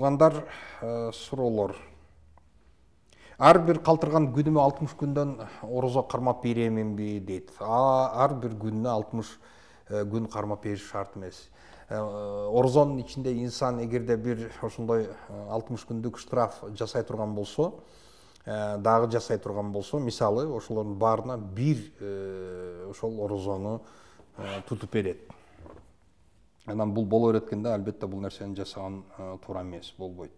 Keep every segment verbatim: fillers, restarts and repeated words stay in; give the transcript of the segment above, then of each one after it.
Туугандар, суроолор. Ар бир калтырган күнүмө алтымыш күндөн орозо кармап береминби дейт. Ар бир күнүнө алтымыш күн кармап бериш шарт эмес. Орозонун ичинде инсан эгерде бир ошондой алтымыш күндүк штраф жасай турган болсо, дагы жасай турган болсо, мисалы, ошолордун баарына бир ошол орозону тутуп берет. Анан бул боло береткенде, албетте бул нерсени жасаган туура эмес, болбойт.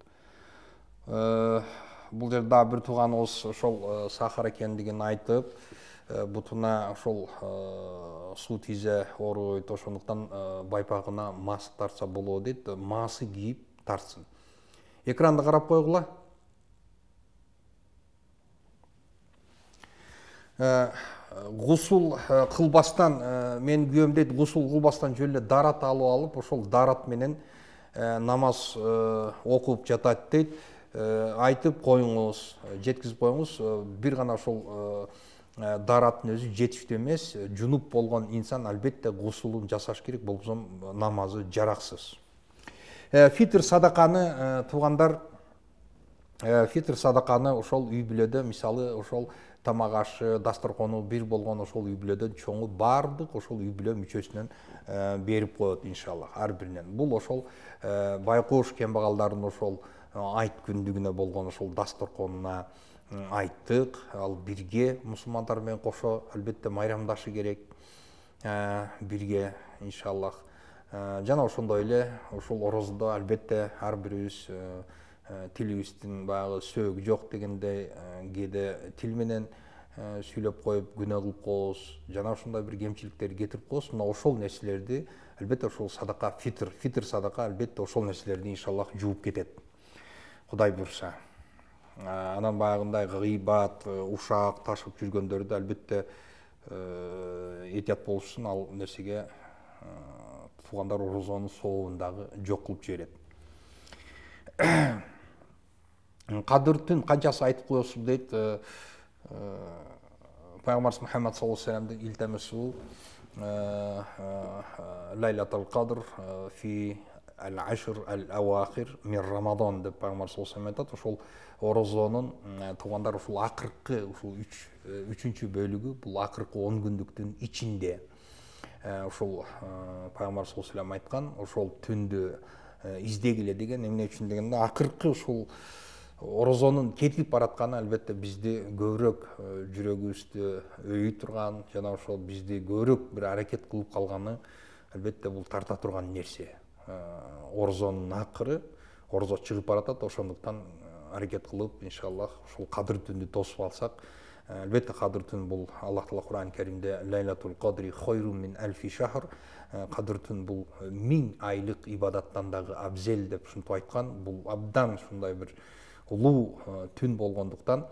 Бул жерде дагы бир тууганыбыз ошол сахар экендигин айтып, бутуна ошол суу тийзе ооруйт, ошондуктан байпагына маск тартса болот дейт. Маасы кийип тартсын. Экранды карап койгула. Гусул кылбастан, мен күйөөм дейт, гусул кылбастан жөн эле дарат алып алып, ошол дарат менен намаз окуп жатат дейт. Айтып коюңуз, жеткизип коюңуз, бир гана ошол дараттын өзү жетиштүү эмес. Жунуп болгон инсан албетте гусулун жасаш керек, болбосо намазы жараксыз. Фитр садаканы, туугандар, фитр садаканы ошол үй бүлөдө, мисалы, ошол тамак ашы, дасторкону бир болгон ошол үй бүлөдөн чоңу баардык ошол үй бүлө мүчөсүнөн берип коет иншаллах, ар биринен. Бул ошол байкош кембагалдардын ошол айт күндүгүнө болгон ошол дасторконуна айттык, ал бирге мусулмандар менен кошо албетте майрамдашы керек, бирге иншаллах. Жана ошондой эле ошол орозодо албетте ар бирибиз тилибиздин баягы сөөгү жок дегендей, кээде тил менен сүйлөп коюп күнөө кылып коебуз, жана ошондой бир кемчиликтерди кетирип коебуз. Мына ошол нерселерди албетте ошол садака, фитр, фитр садака албетте ошол нерселерди иншаллах жууп кетет. Кудай буйрса. Анан баягындай гыйбат, ушак ташып жүргөндөрдү албетте этият болушун, ал нерсеге туугандар орозонун сообун дагы жок кылып жиберет. Кадыртын канчасы айтып коесуз дейт. Пайгамбарыбыз Мухаммад саллаллаху алейхи вассаламдын илтамасу Лайлатул Кадр фи ал-ашр ал-авахир мин Рамадан деп Пайгамбар саллаллаху алейхи вассалам айтат. Ошол орозонун туугандар ушул акыркы, ушул үчүнчү бөлүгү, бул акыркы он күндүктүн ичинде ошол Пайгамбар саллаллаху алейхи вассалам айткан, ошол түндү издегиле деген. Эмне үчүн дегенде, акыркы ушул орозонун кетип баратканы албетте бизди көбүрөөк жүрөгүбүздү өйүй турган, жана ошол бизди көбүрөөк бир аракет кылып калганы албетте бул тарта турган нерсе. Орозонун акыры, орозо чыгып баратат, ошондуктан аракет кылып иншаллах ушул кадыр түндү тосуп алсак, албетте кадыр түн бул Аллах Таала Кур'ан Каримде Лайлатул Кадри хайрун мин альфи шахр, кадыр түн бул миң айлык ибадаттан дагы абзел деп ушинтип айткан. Бул абдан ушундай бир улуу түн болгондуктан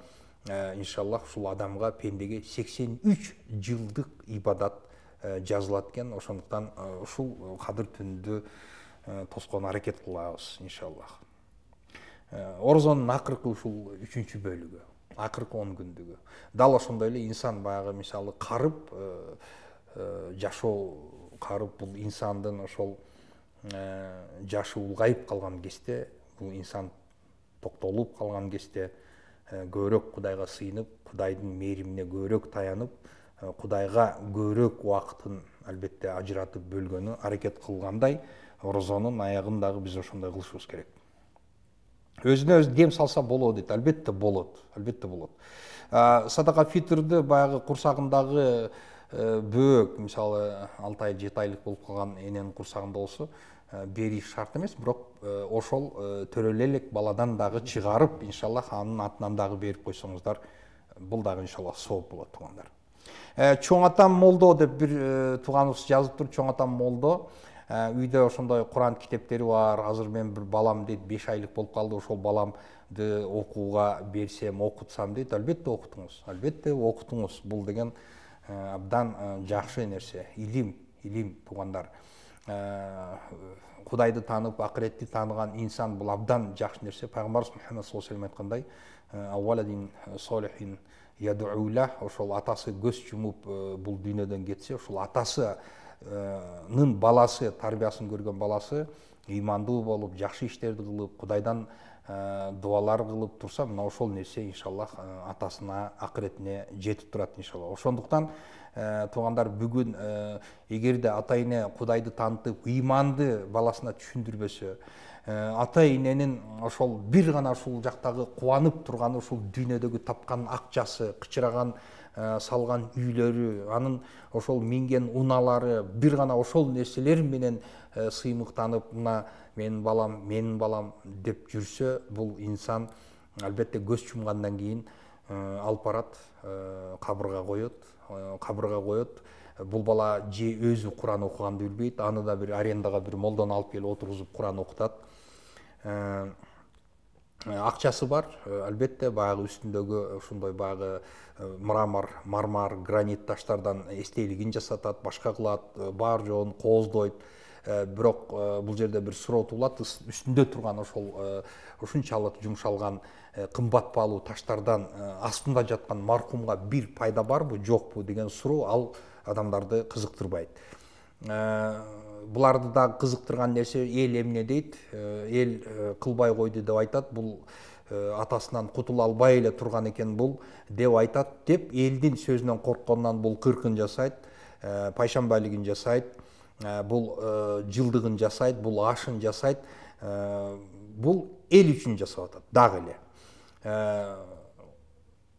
иншаллах ушул адамга, пендеге сексен үч жылдык ибадат жазылат экен. Ошондуктан ушул кадыр түндү тоскон аракет кылабыз иншаллах. Орозонун акыркы ушул үчүнчү бөлүгү, акыркы он күндүгү. Дал ошондой эле инсан баягы мисалы карып, жашоо карып, бул инсандын ошол жашы улгайып калган кезде, бул инсан токтолуп калган кезде көбүрөөк Кудайга сыйынып, Кудайдын мээримине көбүрөөк таянып, Кудайга көбүрөөк убакытын албетте ажыратып бөлгөнү аракет кылгандай, орозонун аягын дагы биз ошондой кылышыбыз керек. Өзүнө өзү дем салса болот дейт. Албетте болот, албетте болот. Садака фитрди баягы курсагындагы бөөк, мисалы алты ай, жети айлык болуп калган эненин курсагында болсо, бериш шарт эмес, бирок ошол төрөлө элек баладан дагы чыгарып, иншаллах анын атынан дагы берип койсоңуздар, бул дагы иншаллах сооп болот, туугандар. Чоң атам молдо деп бир тууганыбыз жазып тур. Чоң атам молдо. Үйдө ошондой Куран китептери бар. Азыр мен бир балам дейт, беш айлык болуп калды, ошол баламды окууга берсем, окутсам дейт. Албетте окутуңуз, албетте окутуңуз. Бул деген абдан жакшы нерсе. Илим, илим, туугандар. Кудайды таанып, акыретти тааныган инсан бул абдан жакшы нерсе. Пайгамбарыбыз Мухаммад саллаллаху алейхи вассалам айткандай, авваладин солихин ядуула, ошол атасы көз жумуп бул дүйнөдөн кетсе, ошол атасынын баласы, тарбиясын көргөн баласы ыймандуу болуп, жакшы иштерди кылып, Кудайдан дубалар кылып турса, мына ошол нерсе иншаллах атасына, акыретине жетип турат иншаллах. Ошондуктан туугандар, бүгүн эгерде ата эне Кудайды таанытып, ыйманды баласына түшүндүрбөсө, ата эненин ошол бир гана ушул жактагы кубанып турганы ушул дүйнөдөгү тапкан акчасы, кычыраган салган үйлөрү, анын ошол минген унаалары, бир гана ошол нерселер менен сыймыктанып, мына менин балам, менин балам деп жүрсө, бул инсан албетте көз чумгандан кийин алып барат, кабырга коет, кабырга коет. Бул бала же өзү Куран окуганды билбейт, аны да бир арендага бир молдону алып келип отургузуп Куран окутат. Акчасы бар, албетте баягы үстүндөгү ушундай баягы мрамор, мармар, гранит таштардан эстелигин жасатат, башка кылат, бар жоон кооздойт. Бирок бул жерде бир суроо туулат, үстүндө турган ошол ушунчалык жумшалган кымбат баалуу таштардан астында жаткан маркумга бир пайда барбы, жокпу деген суроо ал адамдарды кызыктырбайт. Буларды да кызыктырган нерсе эл эмне дейт, эл кылбай койду деп айтат, бул атасынан кутула албай эле турган экен бул деп айтат деп, элдин сөзүнөн корккондон бул кыркын жасайт, пайшамбалигин жасайт, бул жылдыгын жасайт, бул ашын жасайт. Бул эл үчүн жасап атат дагы эле.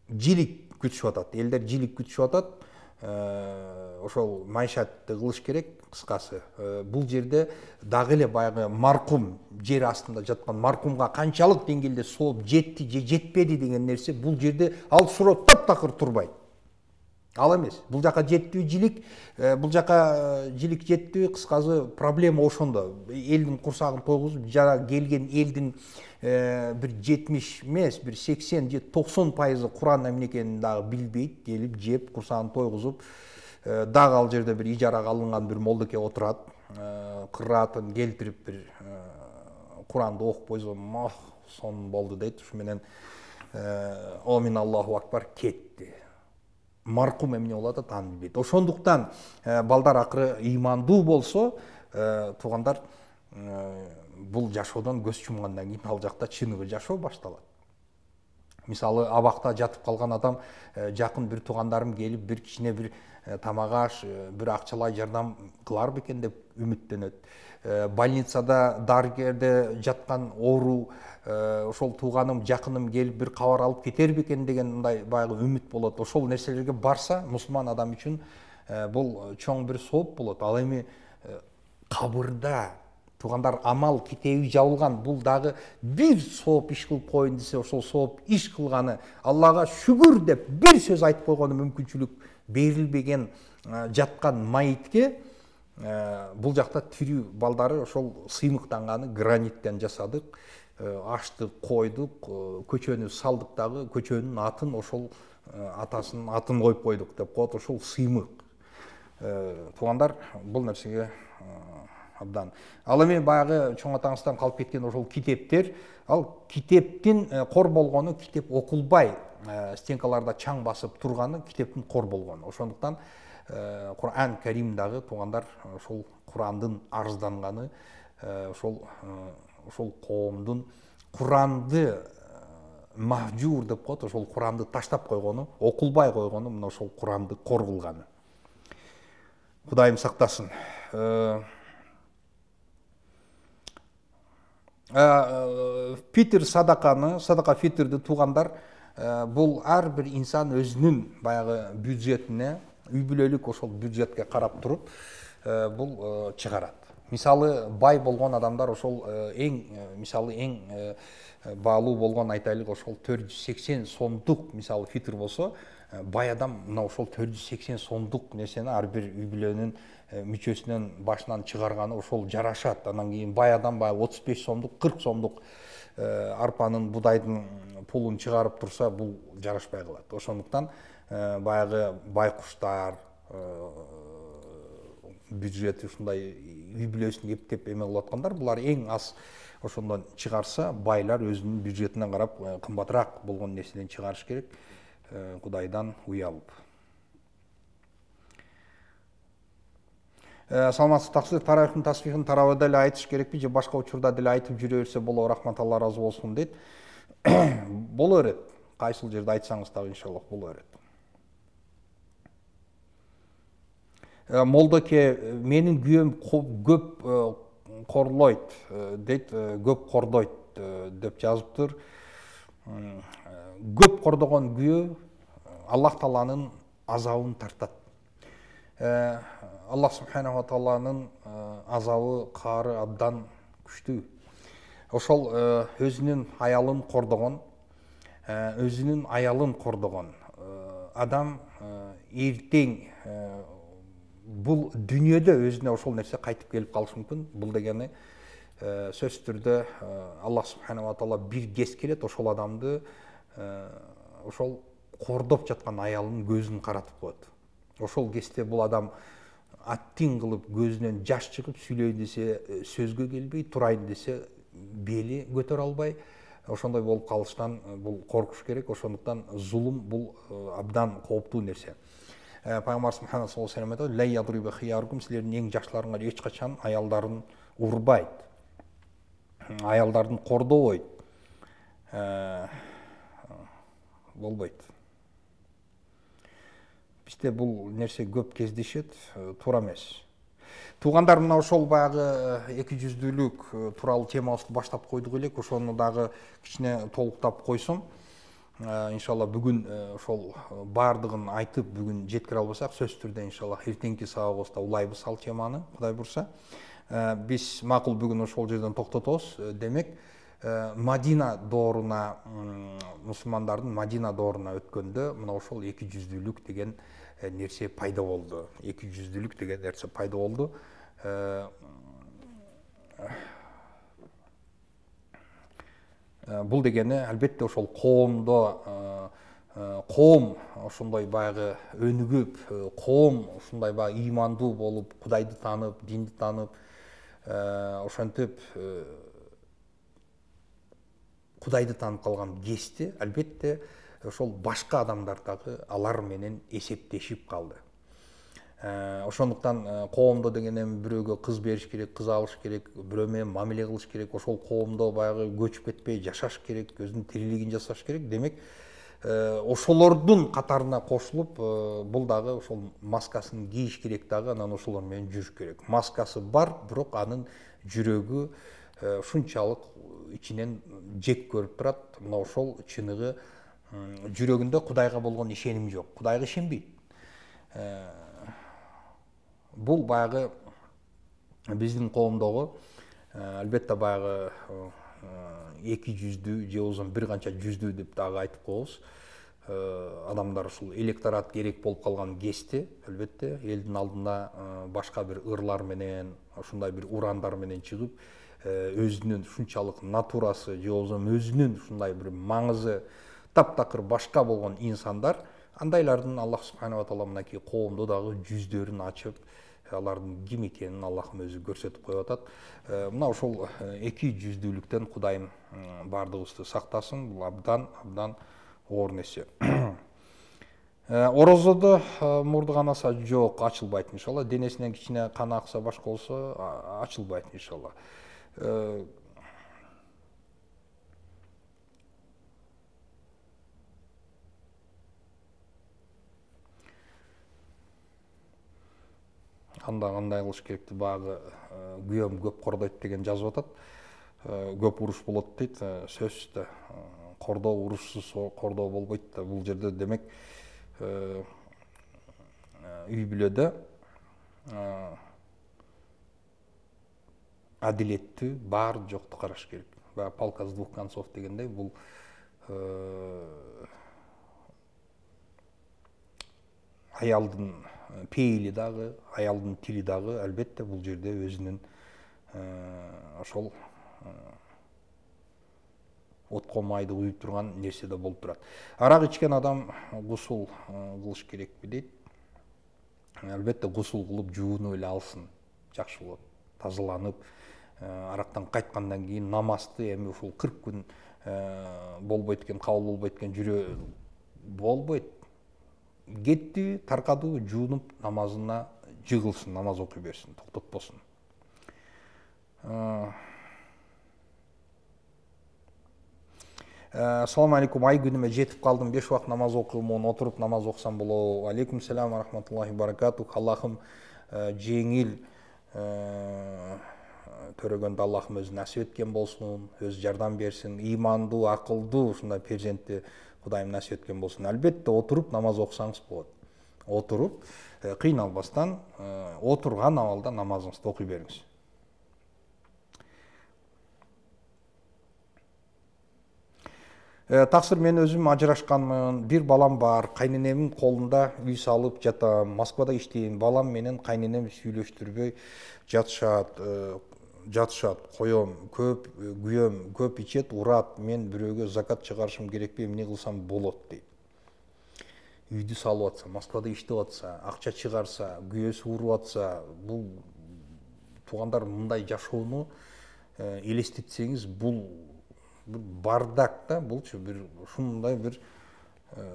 Жилик күтүшүп атат, элдер жилик күтүшүп атат. Ошол майшатты кылыш керек, кыскасы. Бул жерде дагы эле баягы маркум, жер астында жаткан маркумга канчалык деңгээлде сооп жетти же жетпеди деген нерсе бул жерде ал суроо таптакыр турбайт. Ал эмес. Бул жака жеттиби жилик, бул жака жилик жеттиби, кыскасы проблема ошондо. Элдин курсагын тойгузуп, жана келген элдин бир жетимиш эмес, бир сексен же токсон пайызы Куран эмне экенин дагы билбейт, келип жеп, курсагын тойгузуп, дагы ал жерде бир ижарага алынган бир молдоке отурат, кыраатын келтирип бир Куранды окуп койсо, мох, сон болду дейт. Ушу менен Омин Аллаху акбар кетти. Маркум эмне болуп атат, аны билбейт. Ошондуктан балдар акыры ыймандуу болсо, туугандар, бул жашоодон көз чумгандан кийин ал жакта чыныгы жашоо башталат. Мисалы, абакта жатып калган адам, жакын бир туугандарым келип, бир кичине бир тамак аш, бир акчалай жардам кылар бекен деп үмүттөнөт. Больницада дарыгерде жаткан оору, ошол тууганым, жакыным келип бир кабар алып кетер бекен деген мындай баягы үмүт болот. Ошол нерселерге барса, мусулман адам үчүн бул чоң бир сооп болот. Ал эми кабырда туугандар амал китеби жабылган, бул дагы бир сооп иш кылып коеюн десе, ошол сооп иш кылганы, Аллага шүгүр деп бир сөз айтып койгону мүмкүнчүлүк берилбеген жаткан майитке бул жакта тирүү балдары ошол сыймыктанганы граниттен жасадык, ашты койдук, көчөнү салдык дагы, көчөнүн атын ошол атасынын атын коюп койдук деп коет, ошол сыймык. Туугандар, бул нерсеге абдан. Ал эми баягы чоң атаңыздан калып кеткен ошол китептер, ал китептин кор болгону, китеп окулбай стенкаларда чаң басып турганы китептин кор болгону. Ошондуктан Куран Карим дагы туугандар ошол Курандын арызданганы, ошол ошол коомдун Куранды махжур деп коет, ошол Куранды таштап койгону, окулбай койгону, мына ошол Куранды кор кылганы. Кудайым сактасын. Фитр садаканы, садака фитрди туугандар, бул ар бир инсан өзүнүн баягы бюджетине, үй бүлөлүк ошол бюджетке карап туруп бул чыгарат. Мисалы, бай болгон адамдар ошол эң, мисалы эң баалуу болгон айтайлык ошол төрт жүз сексен сомдук, мисалы фитр болсо, бай адам мына ошол төрт жүз сексен сомдук нерсени ар бир үй бүлөнүн мүчөсүнөн башынан чыгарганы ошол жарашат. Анан кийин бай адам баягы отуз беш сомдук, кырк сомдук арпанын, будайдын пулун чыгарып турса, бул жарашпай калат. Ошондуктан баягы байкуштар бюджети ушундай үй бүлөсүн эптеп эме кылып аткандар, булар эң аз ошондон чыгарса, байлар өзүнүн бюджетине карап кымбатыраак болгон нерседен чыгарыш керек, Кудайдан уялып. Саламатсыз таксир, тарайхын тасбихин тарабыда эле айтыш керекпи же башка учурда деле айтып жүрө берсе болобу, рахмат Алла ыраазы болсун дейт. Боло берет. Кайсыл жерде айтсаңыз дагы иншаллах боло берет. Молдоке менин күйөөм көп корлойт дейт, көп кордойт деп жазыптыр. Көп кордогон күйөө Аллах Тааланын азабын тартат. Аллах Субханаху ва Тааланын азабы, каары абдан күчтүү. Ошол өзүнүн аялын кордогон, өзүнүн аялын кордогон адам эртең бул дүйнөдө өзүнө ошол нерсе кайтып келип калышы мүмкүн. Бул дегени сөзсүз түрдө Аллах Субханаху ва Таала бир кез келет, ошол адамды ошол кордоп жаткан аялынын көзүн каратып коет. Ошол кезде бул адам аттин кылып көзүнөн жаш чыгып, сүйлөйүн десе сөзгө келбей, турайын десе бели көтөрө албай, ошондой болуп калыштан бул коркуш керек. Ошондуктан зулум бул абдан кооптуу нерсе. Пайгамбарыбыз Мухаммад саллаллаху алейхи ва саллям айтат: "Ла ядриба хиярукум", силердин эң жакшыларыңар эч качан аялдарын урбайт, аялдарын кордобойт, болбойт. Бизде бул нерсе көп кездешет, туура эмес. Туугандар, мына ошол баягы эки жүздүүлүк тууралуу темабызды баштап койдук элек, ошону дагы кичине толуктап койсом, иншалла бүгүн ошол баардыгын айтып бүгүн жеткире албасак, сөзсүз түрдө иншалла эртеңки сабагыбызда улайбыз ал теманы, Кудай бурса. Биз макул бүгүн ошол жерден токтотобуз. Демек, Мадина дооруна, мусулмандардын Мадина дооруна өткөндө мына ошол эки жүздүүлүк деген нерсе пайда болду. эки жүздүүлүк деген нерсе пайда болду. Бул дегени албетте ошол коомдо коом ошондой баягы өнүгүп, коом ушундай баягы ыймандуу болуп, Кудайды таанып, динди таанып, ошентип Кудайды таанып калган кезде албетте ошол башка адамдар дагы алар менен эсептешип калды. Ошондуктан коомдо деген эми бирөөгө кыз бериш керек, кыз алыш керек, бирөө менен мамиле кылыш керек, ошол коомдо баягы көчүп кетпей жашаш керек, өзүнүн тирилигин жасаш керек. Демек, ошолордун катарына кошулуп, бул дагы ошол маскасын кийиш керек дагы, анан ошолор менен жүрүш керек. Маскасы бар, бирок анын жүрөгү ушунчалык ичинен жек көрүп турат. Мына ошол чыныгы жүрөгүндө Кудайга болгон ишеним жок. Кудайга ишенбейт. Бул баягы биздин коомдогу албетте баягы эки жүздүү же болбосо бир канча жүздүү деп дагы айтып коебуз. Адамдар ушул электорат керек болуп калган кезде албетте элдин алдына башка бир ырлар менен, ушундай бир урандар менен чыгып, өзүнүн ушунчалык натурасы же болбосо өзүнүн ушундай бир маңызы таптакыр башка болгон инсандар, андайлардын Аллах Субханаху ва Таала мынакей коомдо дагы жүздөрүн ачып, алардын ким экенин Аллахым өзү көрсөтүп коюп атат. Мына ошол эки жүздүүлүктөн Кудайым баардыгыбызды сактасын. Бул абдан абдан оор нерсе. Орозодо мурду канаса жок, ачылбайт иншалла. Денесинен кичине кан акса башка болсо ачылбайт иншалла. Анда кандай кылыш керекти, багы күйөөм көп кордойт деген жазып атат. Көп уруш болот дейт. Сөзсүз да кордоо, урушсуз кордоо болбойт да. Бул жерде демек үй бүлөдө адилеттүү, бар жокту караш керек. Баягы палка с двух концов дегендей, бул аялдын пейили дагы, аялдын тили дагы албетте бул жерде өзүнүн ошол отко майды куюп турган нерсе да болуп турат. Арак ичкен адам гусул кылыш керекпи дейт. Албетте гусул кылып жуунуп эле алсын, жакшы болот. Тазаланып, арактан кайткандан кийин намазды эми ушул кырк күн болбойт экен, кабыл болбойт экен, жүрө болбойт. Кетти, таркады, жуунуп намазына жыгылсын, намаз окуй берсин, токтотпосун. Assalamu alaikum, ай күнүмө жетип калдым, беш убакыт намаз окуумун, отуруп намаз окусам болобу? Алейкум салам ва рахматуллахи баракатух. Аллахым жеңил төрөгөндө Аллахым өзү насип эткен болсун, өзү жардам берсин, ыймандуу, акылдуу ушундай перзентти Кудайым насип эткен болсун. Албетте отуруп намаз окусаңыз болот. Отуруп, кыйналбастан, отурган абалда намазыңызды окуй бериңиз. Таксыр, мен өзүм ажырашканмын, бир балам бар, кайненемдин колунда үй салып жатам, Москвада иштейм, балам менен кайненем сүйлөштүрбөй жатышат, жатышат, коем, көп күйөөм, көп ичет, урат, мен бирөөгө закат чыгарышым керекпи, эмне кылсам болот дейт. Үйдү салып атса, Москвада иштеп атса, акча чыгарса, күйөөсү уруп атса, бул туугандар мындай жашоону элестетсеңиз, бул бардак да, булчу бир ушундай бир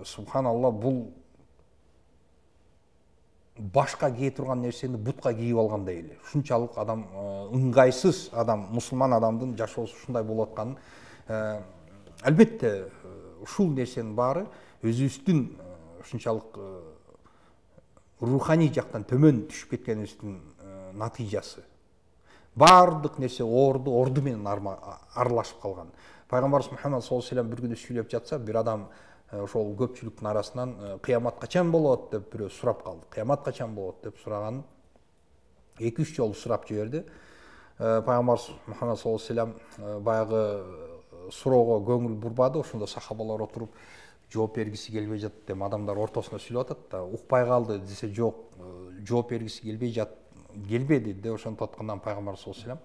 субханалла, бул башка кие турган нерсени бутка кийип алгандай эле. Ушунчалык адам ыңгайсыз адам, мусулман адамдын жашоосу ушундай болуп атканын, албетте ушул нерсенин баары өзүбүздүн ушунчалык руханий жактан төмөн түшүп кеткенибиздин натыйжасы. Бардык нерсе орду, орду менен аралашып калган. Пайгамбарыбыз Мухаммад саллаллаху алейхи ва саллям бир күнү сүйлөп жатса, бир адам ошол көпчүлүктүн арасынан кыямат качан болот деп бирөө сурап калды. Кыямат качан болот деп сураганын эки үч жолу сурап жиберди. Пайгамбарыбыз Мухаммад саллаллаху алейхи ва саллям баягы суроого көңүл бурбады. Ошондо сахабалар отуруп жооп бергиси келбей жатат, эми адамдар ортосунда сүйлөп атат да, укпай калды десе, жок, жооп бергиси келбей жат, келбеди деп ошентип аткандан Пайгамбар саллаллаху алейхи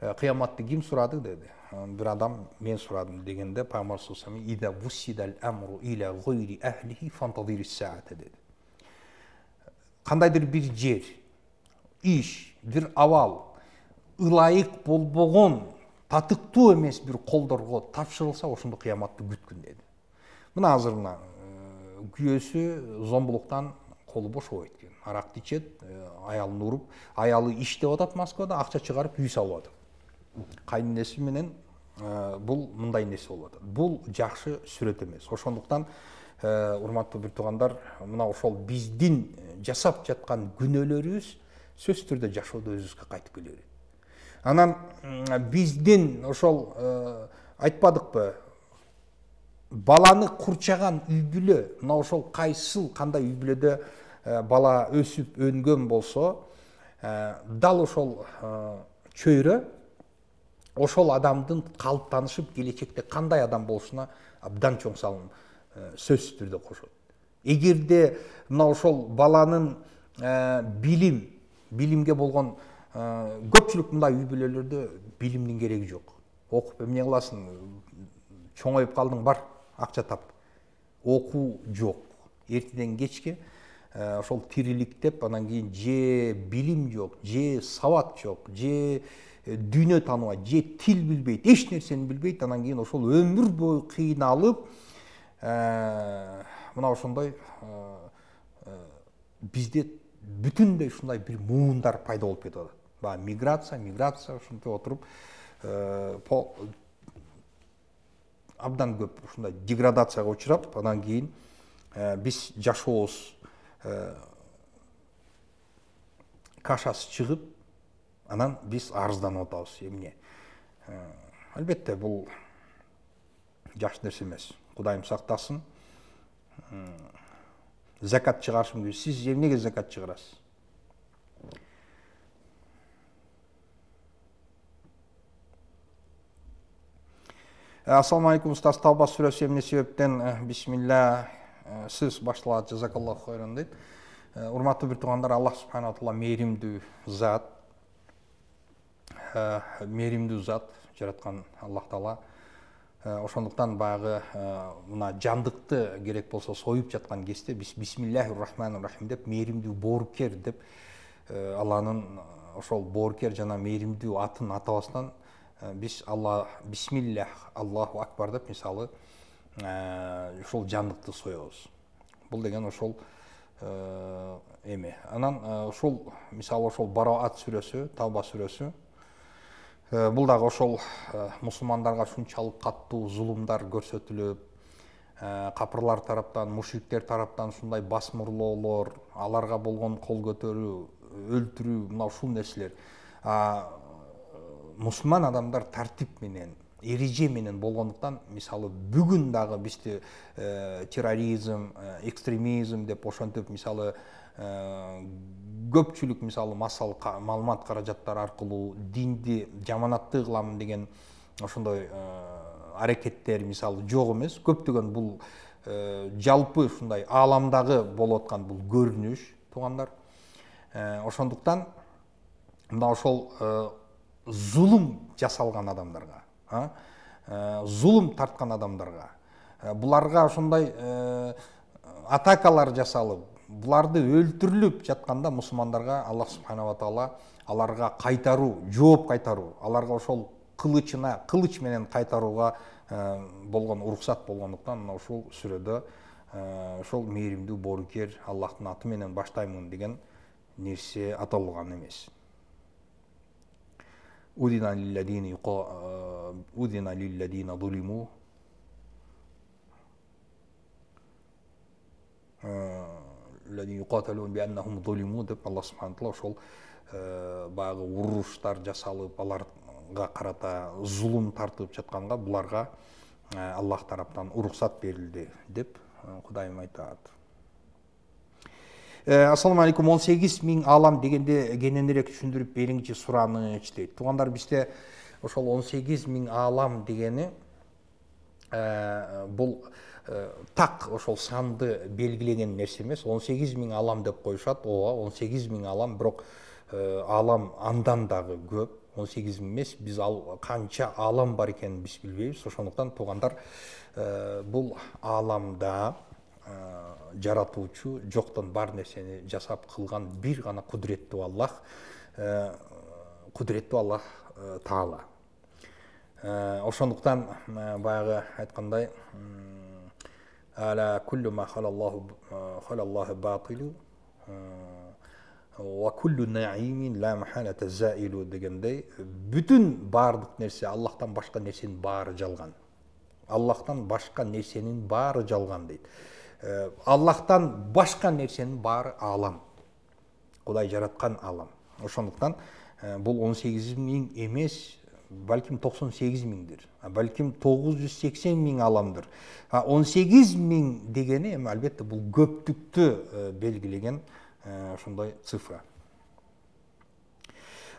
ва саллям кыяматты ким сурады деди. Бир адам мен сурадым дегенде Пайгамбар саллаллаху алейхи ва саллям ида вусидал амру иля гойри ахлихи фантадирис саата деди. Кандайдыр бир жер, иш, бир абал ылайык болбогон, татыктуу эмес бир колдорго тапшырылса, ошондо кыяматты күткүн деди. Мына азыр мына күйөөсү зомбулуктан колу бошобойт экен. Аракты ичет, аялын уруп, аялы иштеп атат Москвада, акча чыгарып үй салып атат. Кайненеси менен бул мындай нерсе болуп атат. Бул жакшы сүрөт эмес. Ошондуктан урматтуу бир туугандар, мына ошол биздин жасап жаткан күнөөлөрүбүз сөзсүз түрдө жашоодо өзүбүзгө кайтып келе берет. Анан биздин ошол айтпадыкпы, баланы курчаган үй бүлө, мына ошол кайсыл кандай үй бүлөдө бала өсүп өнгөн болсо, дал ошол чөйрө ошол адамдын калыптанышып келечекте кандай адам болушуна абдан чоң салым сөзсүз түрдө кошот. Эгерде мына ошол баланын билим, билимге болгон көпчүлүк мындай үй бүлөлөрдө билимдин кереги жок. Окуп эмне кыласың? Чоңоюп калдың, бар, акча тап. Окуу жок. Эртеден кечке ошол тириликтеп, анан кийин же билим жок, же сабат жок, же дүйнө тааныбайт, же тил билбейт, эч нерсени билбейт, анан кийин ошол өмүр бою кыйналып, мына ошондой бизде бүтүндөй ушундай бир муундар пайда болуп кетип атат. Баягы миграция, миграция ушинтип отуруп, абдан көп ушундай деградацияга учурап, анан кийин биз жашообуз кашасы чыгып, анан биз арызданып атабыз. Эмне? Албетте бул жакшы нерсе эмес. Кудайым сактасын. Закат чыгарышым керек. Сиз эмнеге закат чыгарасыз? Ассаламу алейкум, устаз, Тавба сүрөсү эмне себептен бисмилля сиз башталат, жазакаллаху хайран дейт. Урматтуу бир туугандар, Аллах субхана ва таала мээримдүү зат, мээримдүү зат жараткан Аллах таала. Ошондуктан баягы мына жандыкты керек болсо союп жаткан кезде биз бисмиллахир рахманир рахим деп, мээримдүү боорукер деп Алланын ошол боорукер жана мээримдүү атын атабастан биз Алла бисмиллах, Аллаху акбар деп мисалы ошол жандыкты соебуз. Бул деген ошол эме. Анан ошол мисалы ошол Бараат сүрөсү, Тавба сүрөсү бул дагы ошол мусулмандарга ушунчалык каттуу зулумдар көрсөтүлүп, капырлар тараптан, мушриктер тараптан ушундай басмырлоолор, аларга болгон кол көтөрүү, өлтүрүү, мына ушул нерселер. Мусулман адамдар тартип менен, эреже менен болгондуктан, мисалы бүгүн дагы бизде терроризм, экстремизм деп ошентип, мисалы көпчүлүк мисалы массалык маалымат каражаттары аркылуу динди жаманаттуу кылам деген ошондой аракеттер мисалы жок эмес. Көптөгөн бул жалпы ушундай ааламдагы болуп аткан бул көрүнүш, туугандар. Ошондуктан мына ошол зулум жасалган адамдарга, зулум тарткан адамдарга, буларга ошондой атакалар жасалып, буларды өлтүрүлүп жатканда мусулмандарга Аллах субханала ва таала аларга кайтаруу, жооп кайтаруу, аларга ошол кылычына, кылыч менен кайтарууга болгон уруксат болгондуктан мына ушул сүрөдө ошол мээримдүү боорукер Аллахтын аты менен баштаймын деген нерсе аталган эмес. Удина лиллазина удина лиллазина зулиму الذين يقاتلون بأنهم ظلموا деп Аллах субхана таала ошол баягы уруштар жасалып, аларга карата зулум тартып жатканга буларга Аллах тараптан уруксат берилди деп Кудайым айтат. Ассаламу алейкум, он сегиз миң алам дегенде кененирээк түшүндүрүп бериңчи сураныч дейт. Туугандар, бизде ошол он сегиз миң алам дегени бул так ошол санды белгилеген нерсе эмес. он сегиз миң алам деп коюшат. Ооба, он сегиз миң алам, бирок алам андан дагы көп. он сегиз миң эмес, биз ал канча алам бар экенин биз билбейбиз. Ошондуктан туугандар, бул аламда жаратуучу, жоктон бар нерсени жасап кылган бир гана кудуреттүү Аллах, кудуреттүү Аллах Таала. Ошондуктан баягы айткандай, ала куллу ма халаллаху халаллаху батилу ва куллу наимин ла махалата заилу дегендей, бүтүн баардык нерсе, Аллахтан башка нерсенин баары жалган. Аллахтан башка нерсенин баары жалган дейт. Аллахтан башка нерсенин баары алам. Кудай жараткан алам. Ошондуктан бул он сегиз миң эмес, балким токсон сегиз миңдир, балким тогуз жүз сексен миң аламдыр. он сегиз миң дегени эми албетте бул көптүктү белгилеген ошондой цифра.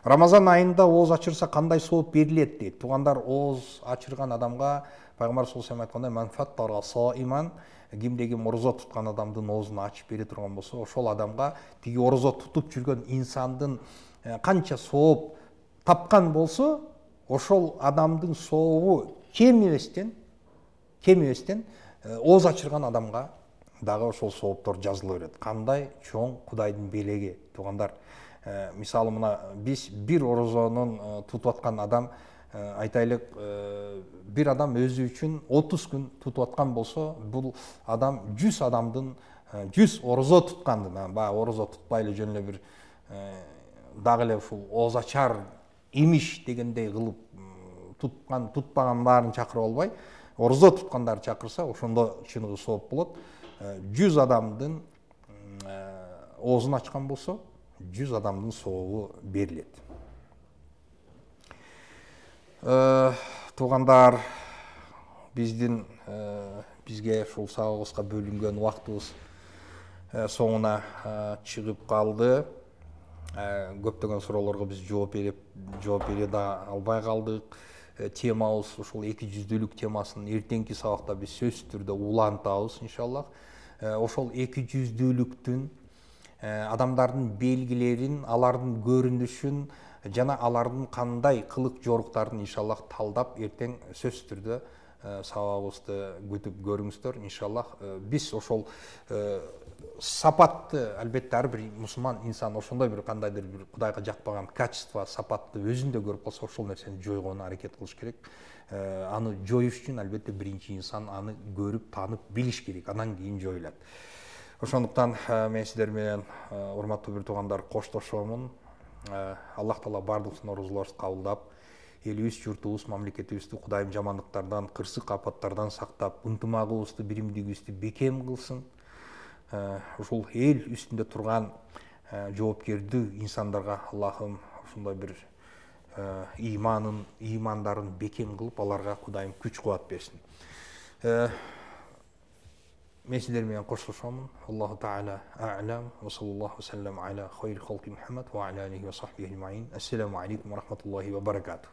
Рамазан айында ооз ачырса кандай сооп берилет дейт. Туугандар, ооз ачырган адамга Пайгамбар саллаллаху алейхи айткандай, "Ман фаттара саиман", кимде ким орозо туткан адамдын оозун ачып бере турган болсо, ошол адамга тиги орозо тутуп жүргөн инсандын канча сооп тапкан болсо, ошол адамдын сообу кем эместен, кем эместен ооз ачырган адамга дагы ошол сооптор жазыла берет. Кандай чоң Кудайдын белеги, туугандар. Мисалы мына биз бир орозонун тутуп аткан адам, айтайлык, бир адам өзү үчүн отуз күн тутуп аткан болсо, бул адам жүз адамдын жүз орозо туткандын, баягы орозо тутпай эле жөн эле бир дагы эле ушул ооз ачар имиш дегендей кылып туткан, тутпаган баарын чакырып албай, орозо туткандарды чакырса, ошондо чыныгы сооп болот. жүз адамдын оозун ачкан болсо, жүз адамдын сообу берилет. Туугандар, биздин бизге ушул сабагыбызга бөлүнгөн убактыбыз соңуна чыгып калды. Көптөгөн суроолорго биз жооп берип, жооп бере да албай калдык. Темабыз ушул эки жүздүүлүк темасын эртеңки сабакта биз сөзсүз түрдө улантабыз иншаллах. Ошол эки жүздүүлүктүн адамдардын белгилерин, алардын көрүнүшүн жана алардын кандай кылык жоруктарын иншаллах талдап эртең сөзсүз түрдө сабагыбызды күтүп көрүңүздөр иншаллах. Биз ошол сапатты, албетте ар бир мусулман инсан ошондой бир кандайдыр бир Кудайга жакпаган качество, сапатты өзүндө көрүп калса, ошол нерсени жойгонуна аракет кылыш керек. Аны жоюш үчүн албетте биринчи инсан аны көрүп, таанып, билиш керек, анан кийин жоюлат. Ошондуктан мен сиздер менен, урматтуу бир туугандар, коштошомун. Аллах Таала бардык оорузууларыбызды кабылдап, элибиз, журтубуз, мамлекетибизди Кудайым жамандыктардан, кырсык апаттардан сактап, ынтымагыбызды, биримдигибизди бекем кылсын. Ушул эл үстүндө турган жоопкердүү инсандарга Аллахым ушундай бир иманын, имандарын бекем кылып, аларга Кудайым күч кубат берсин. Мен сиздер менен коштошомун. Аллаху таала а'лам ва саллаллаху ва саллам аля хайри халки Мухаммад ва аля алихи ва сахбихи аджмаин. Ассаламу алейкум ва рахматуллахи ва баракатух.